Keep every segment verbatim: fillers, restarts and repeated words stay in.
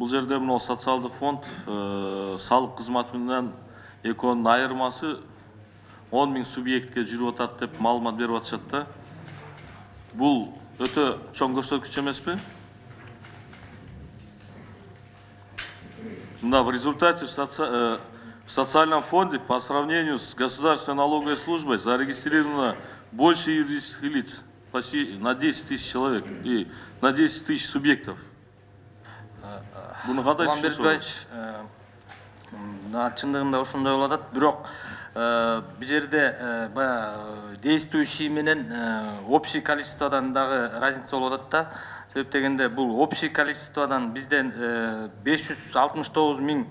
бул жерде мына социалдык фонд салык кызматы менен экөөнүн айырмасы он миң субъектке жүрүп атат деп маалымат берип атышат да. Бул өтө чоң көрсөткүч эмеспи? Да, в результате в, соци... в социальном фонде по сравнению с государственной налоговой службой зарегистрировано больше юридических лиц, почти на десять тысяч человек и на десять тысяч субъектов. Буну кандай түшүнөсүз? Чындыгында ошондой болуп атат, бирок бул жерде баягы действующий менен общий количестводан дагы разница болуп атат да. Себеп дегенде бул общий количестводан бизден беш жүз алтымыш тогуз миң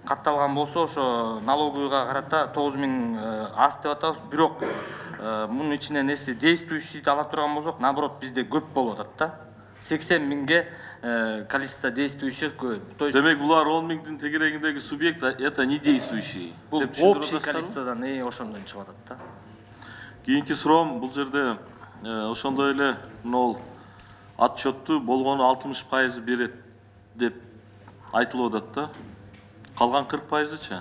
катталган болсо, ошо налоговыйга карата тогуз миң аз деп атабыз. Бирок мунун ичинен эси действующийди ала турган болсок, наоборот бизде көп болуп атат да. сексен миңге количество действующих көп. То есть демек булар он миңдин тегерегиндеги субъект это не действующий. Бул общий количестводан ошондон чыгып атат да. Кийинки суроом, бул жерде ошондой эле мына отчетту болгону алтымыш пайыз берет деп айтылып атат да. Калган кырк пайызычы?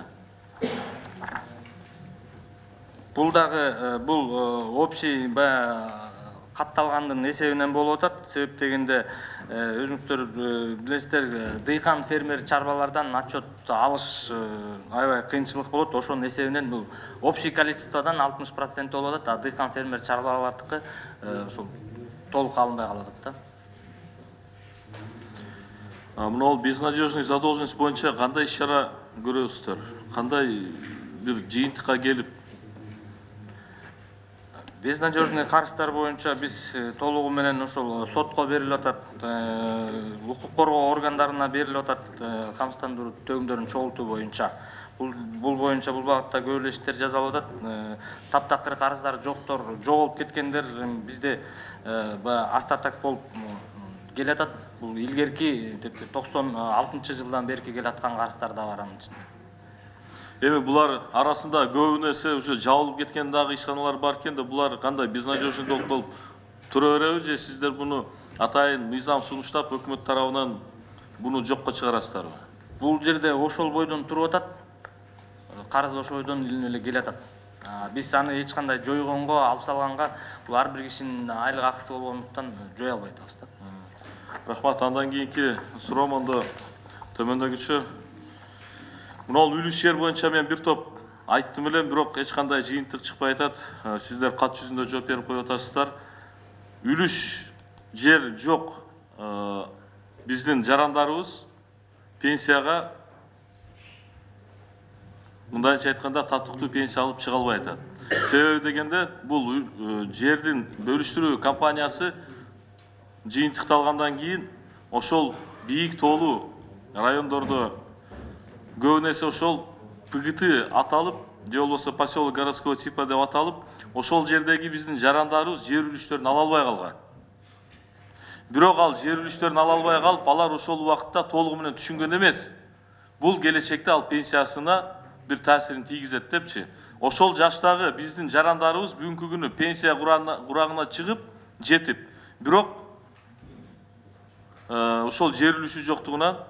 Бул дагы бул общий катталгандын эсебинен болуп атат. Себеп дегенде өзүңүздөр билесиздер, дыйкан фермер чарбалардан отчет алыш аябай кыйынчылык болот. Ошонун эсебинен бул общий количестводан алтымыш процент болуп атат, а дыйкан фермер чарбалардыкы ошол толук алынбай калып атат да. Мына безнадежный задолженность боюнча кандай иш-чара көрөсүздөр? Кандай бир жыйынтыкка келип? Безнадежный карыздар боюнча биз толугу менен ошол сотко берилип атат, укук коргоо органдарына берилип атат, камсыздандыруу төгүмдөрүн чогултуу боюнча. Бул боюнча бул багытта көп эле иштер жасалып атат. Таптакыр карыздар жоктор, жоголуп кеткендер бизде астатак болуп келатат. Бул илгерки токсон алтынчы жылдан берки келаткан карыздар да бар анын ичинде. Эми булар арасында көбүнесе уже жабылып кеткен дагы ишканалар бар экен да, булар кандай безнадежный болуп тура береби же сиздер буну атайын мыйзам сунуштап өкмөт тарабынан буну жокко чыгарасыздарбы? Бул жерде ошол бойдон туруп атат. Карыз ошол бойдон илинип эле келатат. Биз аны эч кандай жойгонго, алып салганга, бул ар бир кишинин айлык акысы болгондуктан жоя албай атабыз да. Рахмат. Андан кийинки суроом ондо төмөндөгүчө. Мына үлүш жер боюнча мен бир топ айттым элем, бирок эч кандай жыйынтык чыкпай атат. Сиздер кат жүзүндө жооп берип коюп атасыздар. Үлүш жер жок биздин жарандарыбыз пенсияга мындайча айтканда татыктуу пенсия алып чыга албай атат. Себеби дегенде бул жердин бөлүштүрүү компаниясы жыйынтыкталгандан кийин ошол бийик тоолуу райондордо көбүнесе ошол ПГТ аталып, же болбосо поселок городского типа деп аталып, ошол жердеги биздин жарандарыбыз жер үлүштөрүн ала албай калган. Бирок ал жер үлүштөрүн ала албай калып, алар ошол убакытта толугу менен түшүнгөн эмес. Бул келечекте ал пенсиясына бир таасирин тийгизет депчи. Ошол жаштагы биздин жарандарыбыз бүгүнкү күнү пенсия курагына чыгып, жетип, бирок ошол жер үлүшү жоктугунан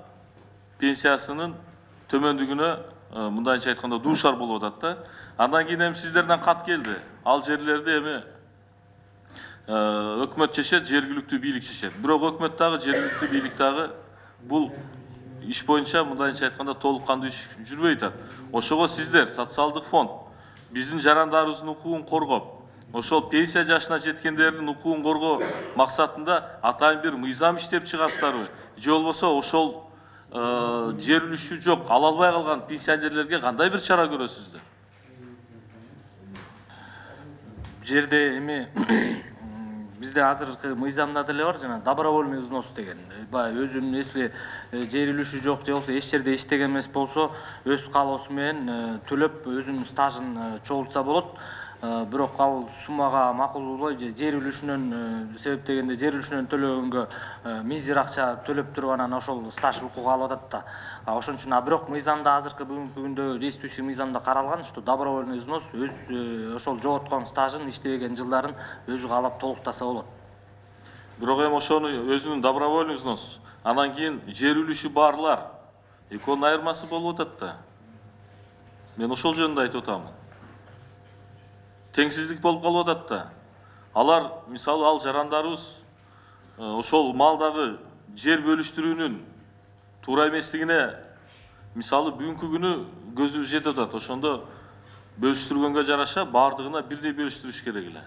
пенсиясынын төмөндүгүнө мындайча айтканда дуушар болуп атат да. Андан кийин эми сиздерден кат келди. Ал жерлерди эми өкмөт чечет, жергиликтүү бийлик чечет. Бирок өкмөт дагы, жергиликтүү бийлик дагы бул иш боюнча мындайча айтканда толук кандуу иш жүрбөй атат. Ошого сиздер социалдык фонд биздин жарандарыбыздын укугун коргоп, ошол пенсия жашына жеткендердин укугун коргоо максатында атайын бир мыйзам иштеп чыгасыздарбы? Же болбосо ошол жер үлүшү жок, ала албай калган пенсионерлерге кандай бир чара көрөсүздөр? Жерде эми бизде азыркы мыйзамда деле бар, жана добровольный взнос деген. Баягы өзүнүн если жер үлүшү жок же болбосо эч жерде иштеген эмес болсо, өз каалоосу менен төлөп өзүнүн стажын чогултса болот. Бирок ал суммага макул болбой, жер үлүшүнөн себеп дегенде жер үлүшүнөн төлөгөнгө мизер акча төлөп туруп анан ошол стаж укугу алып атат да. Ошон үчүн бирок мыйзамда азыркы бүгүнкү күндө действующий мыйзамда каралган, что добровольный взнос өз ошол жоготкон стажын, иштебеген жылдарын өзү каалап толуктаса болот. Бирок эми ошону өзүнүн добровольный взнос, анан кийин жер үлүшү барлар экөөнүн айырмасы болуп атат да. Мен ошол жөнүндө айтып атамын. Теңсиздик болуп калып атат да. Алар мисалы ал жарандарыбыз ошол малдагы жер бөлүштүрүүнүн туура эместигине мисалы бүгүнкү күнү көзүбүз жетип атат. Ошондо бөлүштүргөнгө жараша баардыгына бирдей бөлүштүрүш керек эле.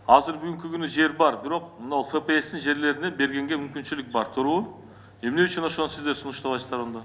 Азыр бүгүнкү күнү жер бар, бирок мына ФПСтин жерлеринен бергенге мүмкүнчүлүк бар, туурабы? Эмне үчүн ошону сиздер сунуштабайсыздар онда?